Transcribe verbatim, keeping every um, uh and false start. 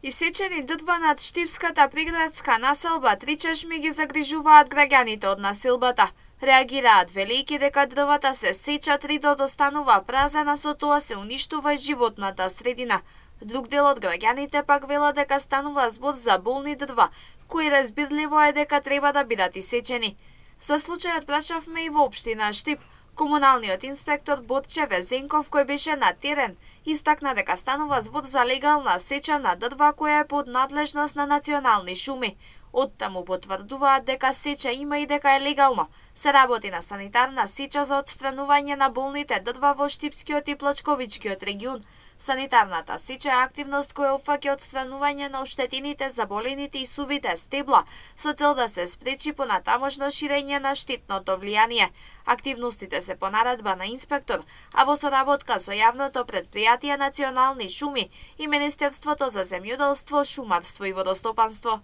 Исечени дрва над Штипската приградска населба Три чешми ги загрижуваат граѓаните од населбата. Реагираат велики дека дрвата се сечат, ридот останува празен, а со тоа се уништува и животната средина. Друг дел од граѓаните пак велат дека станува збор за болни дрва, кои разбирливо е дека треба да бидат исечени. За случајот прашавме и во општина Штип. Комуналниот инспектор Борче Везенков, кој беше на терен, истакна дека станува збор за легална сеча на дрва која е под надлежност на национални шуми. Оттаму потврдуваат дека сеча има и дека е легално. Се работи на санитарна сеча за отстранување на болните дрва во Штипскиот и Плачковичкиот регион. Санитарната сеча е активност која опфаќа отстранување на оштетените, заболените и сувите стебла, со цел да се спречи понатамошно ширење на штетното влијание. Активностите се по наредба на инспектор, а во соработка со јавното претпријатие Национални шуми и Министерството за земјоделство, шумарство и водостопанство.